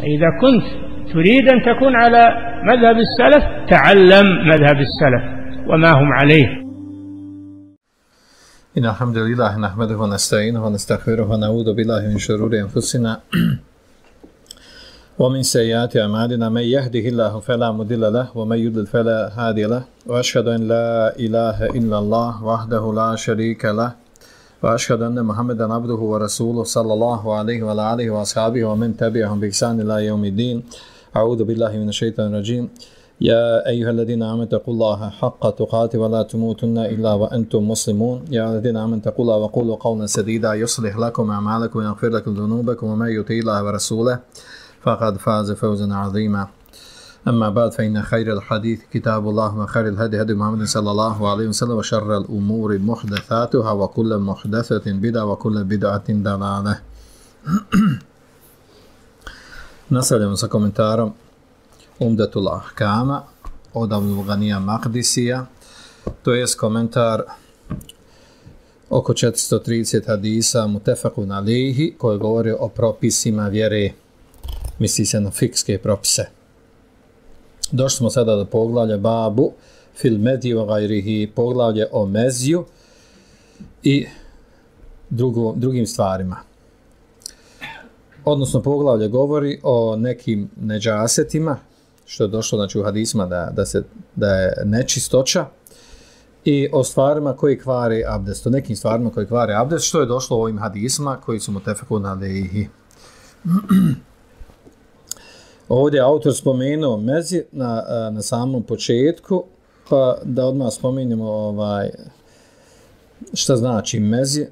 إذا كنت تريد أن تكون على مذهب السلف تعلم مذهب السلف وما هم عليه. إن الحمد لله نحمده ونستعينه ونستغفره ونعوذ بالله من شرور أنفسنا ومن سيئات أعمالنا من يهده الله فلا مضل له ومن يضلل فلا هادي له وأشهد أن لا إله إلا الله وحده لا شريك له وأشهد أن محمدا عبده ورسوله صلى الله عليه وعلى آله وأصحابه ومن تبعهم بإحسان إلى يوم الدين. أعوذ بالله من الشيطان الرجيم. يا أيها الذين آمنوا اتقوا الله حق تقاته ولا تموتن إلا وأنتم مسلمون. يا الذين آمنوا اتقوا الله وقولوا قولا سديدا يصلح لكم أعمالكم ويغفر لكم ذنوبكم ومن يطع الله ورسوله فقد فاز فوزا عظيما. أما بعد فإن خير الحديث كتاب الله وخير الهدي هدي محمد صلى الله عليه وسلم وشر الأمور محدثاتها وكل محدثة بدعة وكل بدعة ضلالة. Nastavljamo sa komentarom Umdatul Ahkama od Abdul Ganija Maqdisija, to je komentar oko 430 hadisa mutefakun alejhi koji govori o propisima vjere, misli se na fikske propise. Došli smo sada do poglavlja babu fil medji wa gajrihi, poglavlje o meziju i drugim stvarima. Odnosno poglavlje govori o nekim neđasetima, što je došlo znači u hadisima da je nečistoća, i o stvarima koji kvari abdest, o nekim stvarima koji kvari abdest, što je došlo u ovim hadisima koji su mutefakun alejhi. Ovdje je autor spomenuo mezi na samom početku, pa da odmah spomenemo šta znači mezi.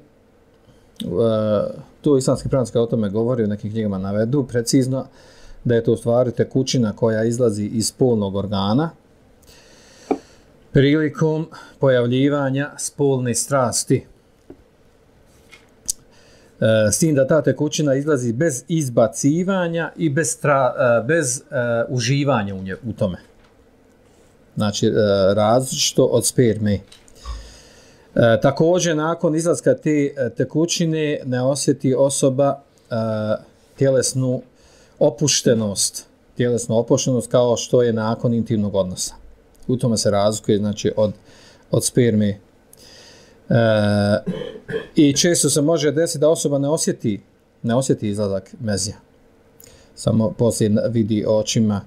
Tu islamski pravnici o tome govori, u nekim knjigama navedu precizno da je to u stvari tekućina koja izlazi iz spolnog organa prilikom pojavljivanja spolne strasti. S tim da ta tekućina izlazi bez izbacivanja i bez uživanja u tome. Znači, različito od sperme. Također, nakon izlaska te tekućine ne osjeti osoba tjelesnu opuštenost kao što je nakon intimnog odnosa. U tome se razlikuje znači, od sperme. I često se može desiti da osoba ne osjeti izlazak mezija. Samo poslije vidi očima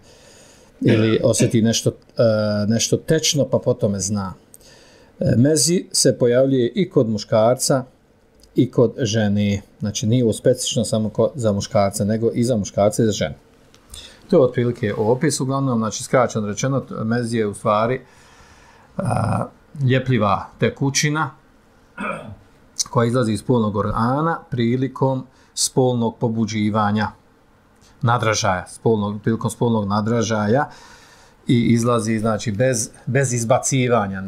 ili osjeti nešto tečno, pa potom zna. Mezi se pojavljuje i kod muškarca i kod žene. Znači nije specifično samo za muškarca, nego i za muškarca i za žene. To je otprilike opis. Uglavnom, znači skraćeno rečeno, mezi je u stvari ljepljiva tekućina koja izlazi iz spolnog organa prilikom spolnog pobuđivanja, nadražaja, prilikom spolnog nadražaja, i izlazi znači bez izbacivanja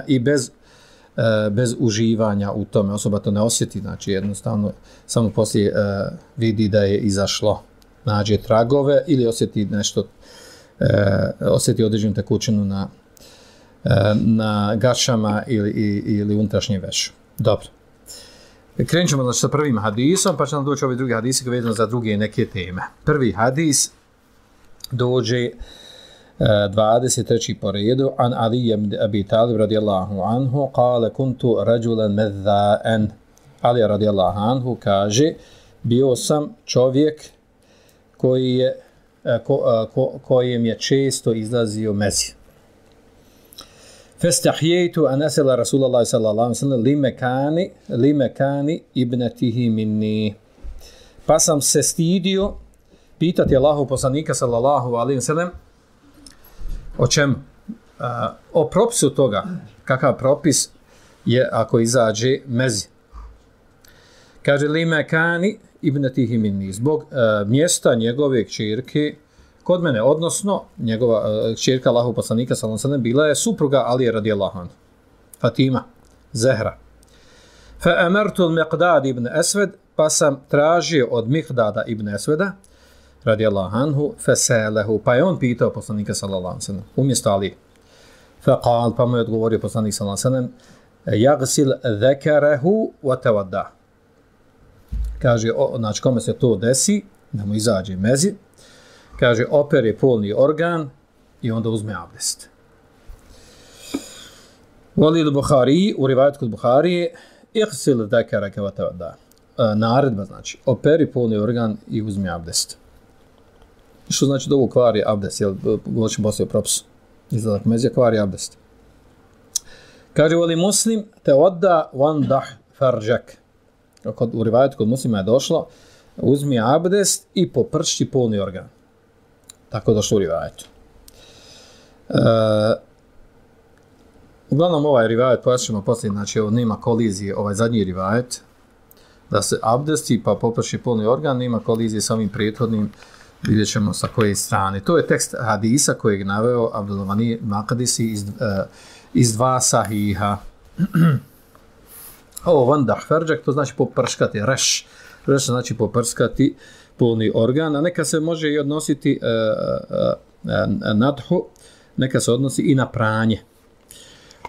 i bez uživanja u tome. Osoba to ne osjeti, znači jednostavno samo poslije vidi da je izašlo, nađe tragove ili osjeti određenu tekućinu na gašama ili unutrašnjem vešu. Dobro. Krenut ćemo znači sa prvim hadisom, pa će nam doći ovi drugi hadisi koji vezano za druge neke teme. Prvi hadis dođe 23. po redu. An Ali ibn Abi Talib radijallahu anhu kale kuntu rađulan mezza'en. Ali radijallahu anhu kaže, bio sam čovjek kojem je često izlazio mezi. Fastahiytu an asala Rasulullah sallallahu alejhi ve sellem limekani ibnatihi minni. Pa sam se stidio pitati Allahu poslanika sallallahu alejhi ve sellem o čemu? O propisu toga. Kakav propis je ako izađe mezi? Kaže limekani ibnatihi minni, zbog mjesta njegove kćerke kod mene, odnosno njegova kćerka Allahu poslanika sallallahu alejhi ve sellem bila je supruga Alije radijallahu anhu, Fatima Zehra. Fa amartu al-Miqdad ibn Aswad, pa sam tražio od Miqdada ibn Aswada radijallahu anhu, fasalahu, pa je on pitao poslanika sallallahu alejhi ve sellem umjesto Ali. Fa qal, pa mu je odgovorio poslanik sallallahu alejhi ve sellem, yaghsil dhakarahu wa tawadda. Kaže, znači kome se to desi, da mu izađe mezi, kaže opere polni organ i onda uzme abdest. Walid Buhari, u rivajetu kod Buharije, ihsil zakaraka wa tawadda. Naredba znači, operi polni organ i uzmi abdest. Što znači da ovo kvari abdest, jel govorim poslije propis. Izlazak mezija kvari abdest. Kaže, voli Muslim, tawadda wandah farjak. U rivajetu kod Muslima je došlo, uzmi abdest i popršti polni organ. Tako je došlo u rivajetu. Uglavnom ovaj rivajet, pojašnjamo poslije, znači ovo nema kolizije, ovaj zadnji rivajet, da se abdesti pa poprši polni organ, nema kolizije sa ovim prethodnim, vidjet ćemo sa koje strane. To je tekst hadisa kojeg je naveo Abdulmani Makadisi iz dva sahiha. Ovo vandah ferđak, to znači poprškati, reš znači poprskati polni organ, a neka se može i odnositi nadhu, neka se odnosi i na pranje.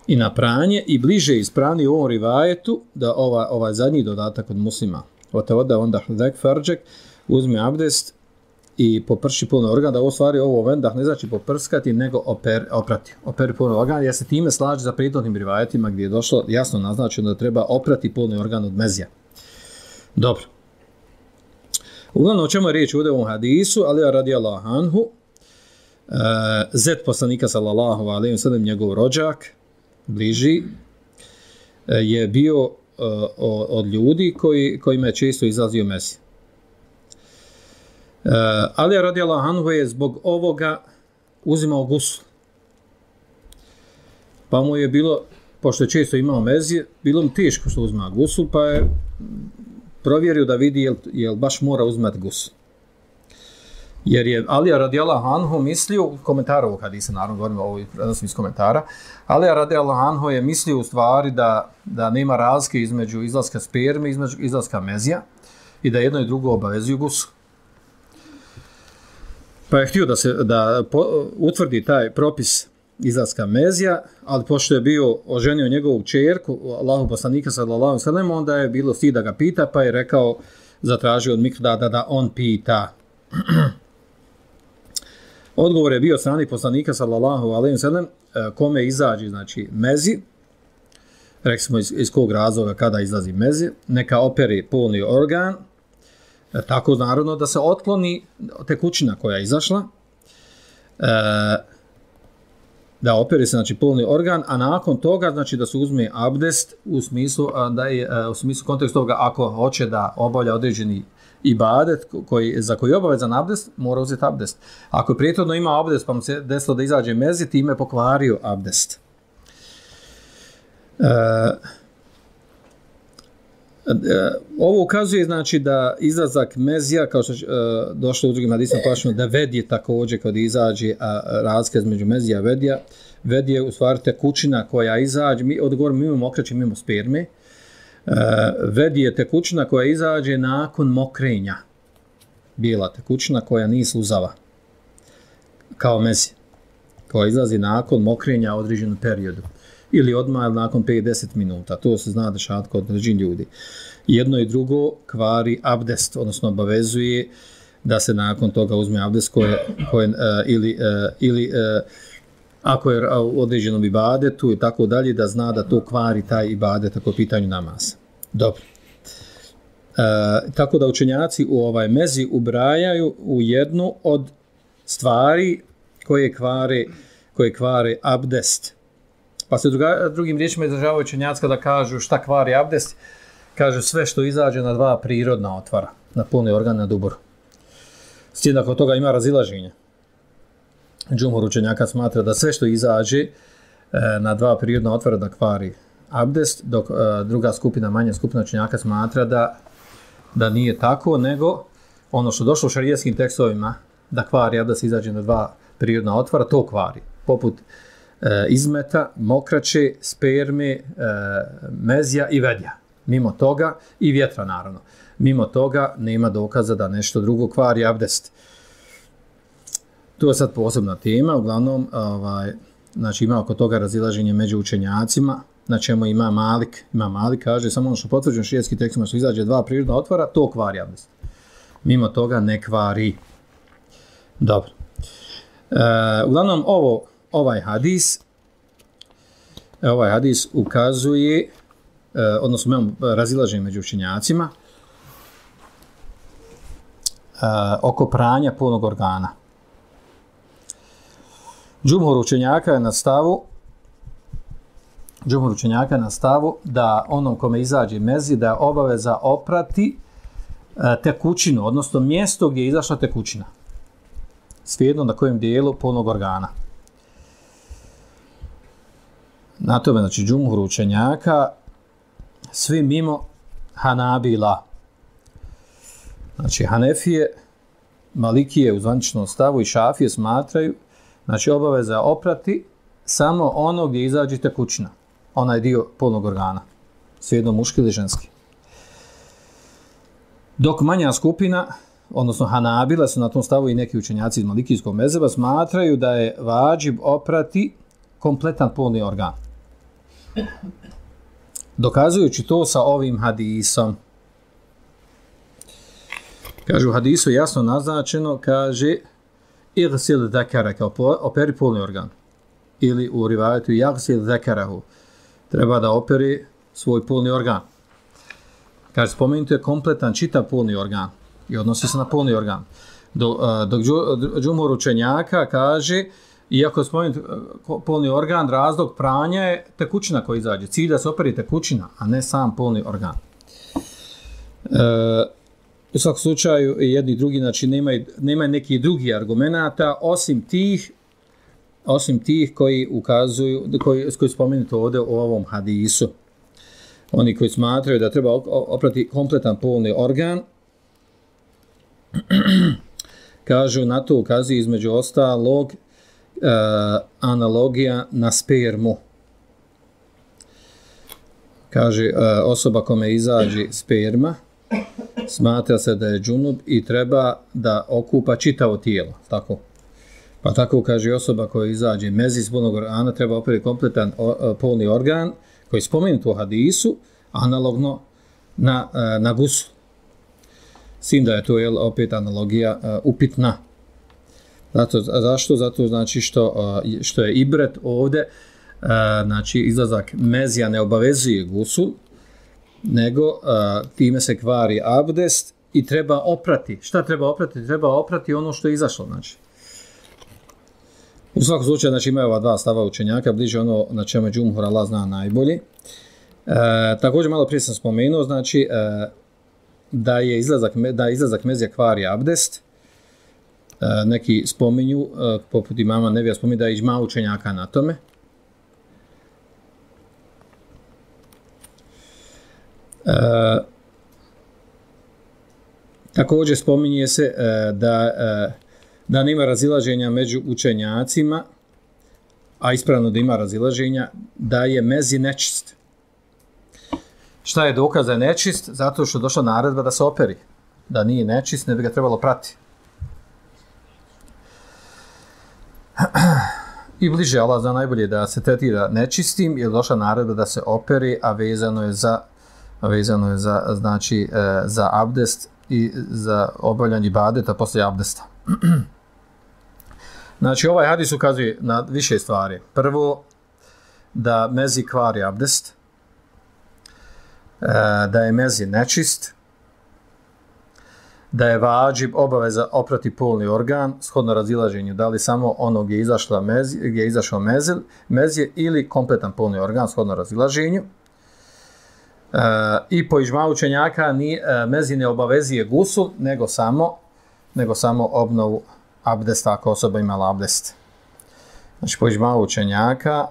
I na pranje, i bliže ispravni u ovom rivajetu da ovaj zadnji dodatak od Muslima. Otevoda vandah ferđak, uzme abdest i poprši polni organ, da u stvari ovo vendah ne znači poprskati, nego oprati. Operi polni organ, jer se time slaže za prethodnim rivajetima gdje je došlo jasno naznačeno da treba oprati polni organ od mezija. Dobro. Uglavnom, o čemu je riječ u ovom hadisu, ali radijallahu anhu, zet poslanika sallallahu alejhi ve sellem, njegov rođak, bliži, je bio od ljudi kojima je često izlazio mezi. Ali radijallahu anhu je zbog ovoga uzimao gusul. Pa mu je bilo, pošto je često imao mezije, bilo mu teško što uzima gusul, pa je provjerio da vidi jel baš mora uzmati gusul. Jer je Alija radijallahu anhu mislio, u komentaru ovog hadisa, naravno govorimo ovo prenosim iz komentara, Alija radijallahu anhu je mislio u stvari da nema razlike između izlaska sperme i između izlaska mezija i da jedno i drugo obavezuju gusul. Pa je htio da utvrdi taj propis izlaska mezija, ali pošto je bio oženio njegovu čerku, Allahu poslanika sallallahu alejhi ve sellem, onda je bilo stid da ga pita, pa je rekao, zatražio od Mikdada da on pita. Odgovor je bio strani poslanika sallallahu alejhi ve sellem, kome izađe znači mezi, rekli smo iz kog razloga kada izlazi mezi, neka operi polni organ, tako naravno da se otkloni tekućina koja je izašla, da operi se znači polni organ, a nakon toga znači da se uzme abdest u smislu kontekstu toga ako hoće da obavlja određeni ibadet za koji je obavezan abdest, mora uzeti abdest. Ako je prethodno imao abdest pa mu se desilo da izađe mezi, time je pokvario abdest. Ovo ukazuje znači da izlazak mezija, kao što je došlo u drugim hadisima pojašnjeno, da vedje također kad izađe, a razlika između mezija i vedje u stvari tekućina koja izađe, odgovorimo mimo mokraće, mimo sperme, vedje tekućina koja izađe nakon mokrenja, bijela tekućina koja nije sluzava, kao mezi, koja izlazi nakon mokrenja u određenom periodu. Ili odmah nakon 5-10 minuta. To se zna dešavati kod određenih ljudi. Jedno i drugo kvari abdest, odnosno obavezuje da se nakon toga uzme abdest ili ako je u određenom ibadetu i tako dalje, da zna da to kvari taj ibadet ako je pitanju namaz. Dobro. Tako da učenjaci u ovaj mezi ubrajaju u jednu od stvari koje kvare abdest. Pa se drugim riječima izražavaju učenjaci kada kažu šta kvari abdest, kažu sve što izađe na dva prirodna otvara, na polni organ, na dubur. S tim da kod toga ima razilaženja. Džumhur učenjaka smatra da sve što izađe na dva prirodna otvara da kvari abdest, dok druga skupina, manja skupina učenjaka smatra da nije tako, nego ono što došlo u šarijetskim tekstovima da kvari abdest izađe na dva prirodna otvara, to kvari. Poput izmeta, mokraće, sperme, mezija i vedja. Mimo toga, i vjetra naravno. Mimo toga nema dokaza da nešto drugo kvari abdest. To je sad posebna tema, uglavnom znači ima oko toga razilaženje među učenjacima, na čemu ima Malik. Ima Malik kaže samo ono što potvrđeno širijetski tekstima što izađe dva prirodna otvara, to kvari abdest. mimo toga ne kvari. Dobro. Uglavnom ovaj hadis ukazuje, odnosno imamo razilaženje među učenjacima oko pranja polnog organa. Džumhur učenjaka je na stavu da onom kome izađe mezi da je obaveza oprati tekućinu, odnosno mjesto gdje je izašla tekućina. Svejedno na kojem dijelu polnog organa. Na tome, znači, džumhur učenjaka, svi mimo Hanabila. Znači, Hanefije, Malikije u zvaničnom stavu i Šafije smatraju, znači, obaveza oprati samo ono gdje izađe tekućina. Onaj dio polnog organa. Svejedno muški ili ženski. Dok manja skupina, odnosno Hanabila, su na tom stavu i neki učenjaci iz Malikijskog mezheba, smatraju da je vađib oprati kompletan polni organ. Dokazujući to sa ovim hadisom. Kaže, u hadisu jasno naznačeno, kaže, igsil zekara, kao operi polni organ. Ili u rivajetu, jagsil zekarahu, treba da operi svoj polni organ. Kaže, spomenuto je kompletan čitav polni organ i odnosi se na polni organ. Dok džumhur učenjaka kaže, iako je spomenut polni organ, razlog pranja je tekućina koja izađe. Cilj da se operi tekućina, a ne sam polni organ. U svakom slučaju, jedni i drugi, znači nema neki drugi argumenata, osim tih koji ukazuju, koji spomenuto ovdje u ovom hadisu. Oni koji smatraju da treba oprati kompletan polni organ, kažu, na to ukazuje između ostalog analogija na spermu. Kaže, osoba kome izađe sperma, smatra se da je džunub i treba da okupa čitavo tijelo. Tako. Pa tako kaže osoba koja izađe mezi iz polnog organa, treba operiti kompletan polni organ, koji je spomenut u hadisu, analogno na gusu. Sim da je to opet analogija upitna. Zašto? Zato znači što je ibret ovdje, znači izlazak mezija ne obavezuje gusul, nego time se kvari abdest i treba oprati. Šta treba oprati? Treba oprati ono što je izašlo. Znači. U svakom slučaju, znači, imaju ova dva stava učenjaka, bliže ono na čemu džumhur Allah zna najbolje. Također, malo prije sam spomenuo, znači, da je izlazak mezija kvari abdest. Neki spominju, poput imama Nevija spominju da je iđma učenjaka na tome. Također spominje se da nema razilaženja među učenjacima, a ispravno da ima razilaženja, da je mezi nečist. Šta je dokaz da je nečist? Zato što je došla naredba da se operi. Da nije nečist, ne bi ga trebalo prati. I bliže Allah zna najbolje da se tretira nečistim, jer došla naredba da se operi, a vezano je za znači, za abdest i za obavljanje ibadeta poslije abdesta. Znači, ovaj hadis ukazuje na više stvari. Prvo, da mezi kvari abdest, da je mezi nečist, da je vađib obaveza oprati polni organ, shodno razilaženju, da li samo ono gdje je izašao mezije ili kompletan polni organ, shodno razilaženju. I po iđma učenjaka mezi ne obavezuje gusul, nego samo obnovu abdesta ako osoba imala abdest. Znači, po iđma učenjaka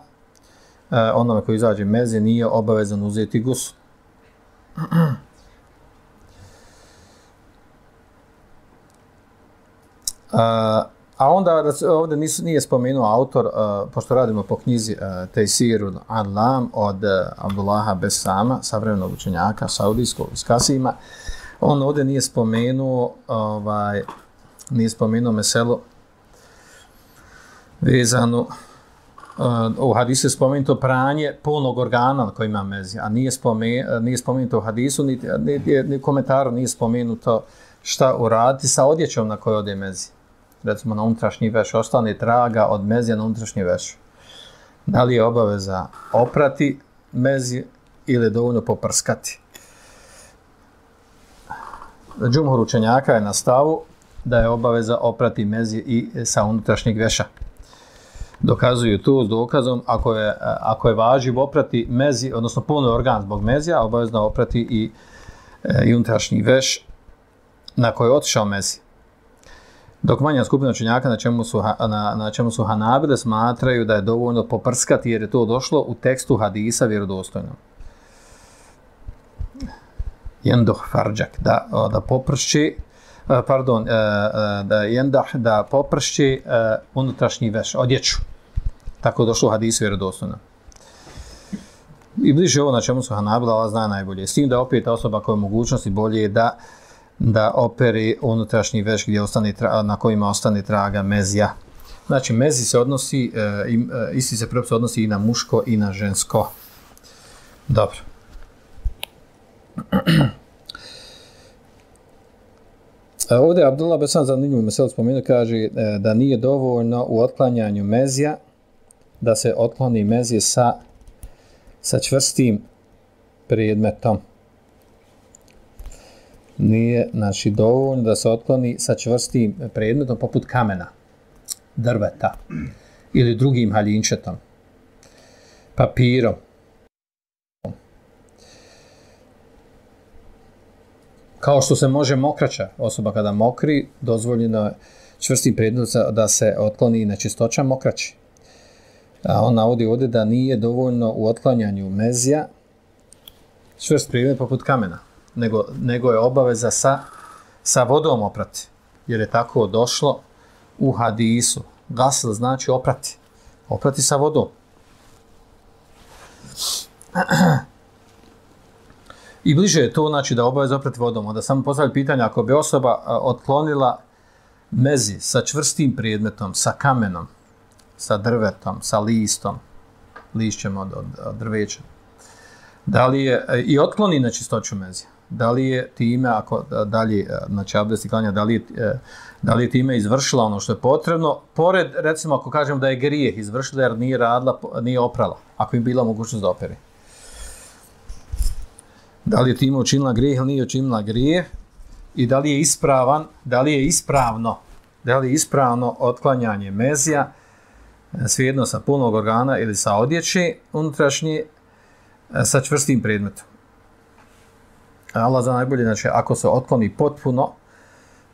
onome koji izađe mezi nije obavezan uzeti gusul. A onda ovdje nije spomenuo autor, pošto radimo po knjizi Tejsirul Alam od Abdullaha Besama, savremenog učenjaka saudijskog iz Kasima, on ovdje nije spomenuo meselu vezanu, u hadisu je spomenuto pranje polnog organa koji ima mezi, a nije spomenuto u hadisu, ni komentaru nije spomenuto šta uraditi sa odjećom na kojoj ode mezi. Recimo na unutrašnji veš, ostane traga od mezija na unutrašnji veš. Da li je obaveza oprati mezi ili dovoljno poprskati? Džumhur učenjaka je na stavu da je obaveza oprati mezi i sa unutrašnjeg veša. Dokazuju to s dokazom ako je važiv oprati mezi, odnosno polni organ zbog mezija, obavezno oprati i unutrašnji veš na koji je otišao mezi. Dok manja skupina učenjaka na čemu su Hanabile smatraju da je dovoljno poprskati jer je to došlo u tekstu hadisa vjerodostojnom. Jendoh farđak, da popršći, da popršći unutrašnji veš, odjeću. Tako je došlo u hadisu vjerodostojnom. I bliže ovo na čemu su Hanabile, Allah zna najbolje. S tim da opet osoba koja je mogućnosti bolje je da operi unutrašnji veš gdje na kojima ostane traga mezija. Znači, mezi se odnosi, isti se propis odnosi i na muško i na žensko. Dobro. Ovdje Abdullah Besan zanimljivo mesel spomenuo, kaže da nije dovoljno u otklanjanju mezija da se otkloni mezije sa čvrstim predmetom. Nije, znači, dovoljno da se otkloni sa čvrstim predmetom poput kamena, drveta ili drugim haljinčetom, papirom. Kao što se može mokraća, osoba kada mokri, dozvoljeno čvrstim predmetom da se otkloni nečistoća mokraći. A on navodi ovdje da nije dovoljno u otklanjanju mezija čvrst predmet poput kamena, nego je obaveza sa vodom oprati. Jer je tako došlo u hadisu. Gasl znači oprati. Oprati sa vodom. I bliže je to, znači, da obaveza oprati vodom. Onda samo postavlja pitanje, ako bi osoba otklonila mezi sa čvrstim predmetom, sa kamenom, sa drvetom, sa listom, lišćem od drveća, da li je, i otkloni nečistoću mezija, da li je time, ako dalje, znači abdest i klanja, da li je time izvršila ono što je potrebno, pored, recimo, ako kažemo da je grijeh izvršila jer nije radila, nije oprala, ako im bila mogućnost da operi. Da li je time učinila grijeh ili nije učinila grijeh i da li je ispravno otklanjanje mezija, svejedno sa polnog organa ili sa odjeće unutrašnje, sa čvrstim predmetom. Allah zna najbolje, znači, ako se otkloni potpuno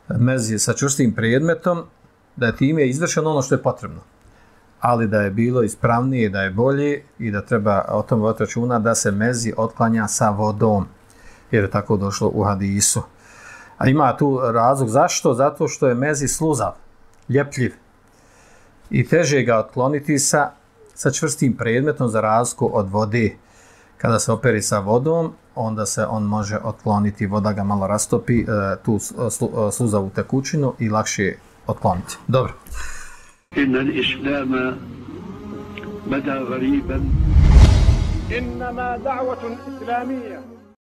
mezije sa čvrstim predmetom, da je time izvršeno ono što je potrebno. Ali da je bilo ispravnije, da je bolje i da treba o tom voditi računa da se mezi otklanja sa vodom, jer je tako došlo u hadisu. A ima tu razlog zašto? Zato što je mezi sluzav, ljepljiv i teže ga otkloniti sa čvrstim predmetom za razliku od vode. Kada se operi sa vodom, onda se on može otkloniti, voda ga malo rastopi, tu sluzavu tekućinu i lakše otkloniti. Dobro. إن الإسلام بدا غريبا إنما دعوة إسلامية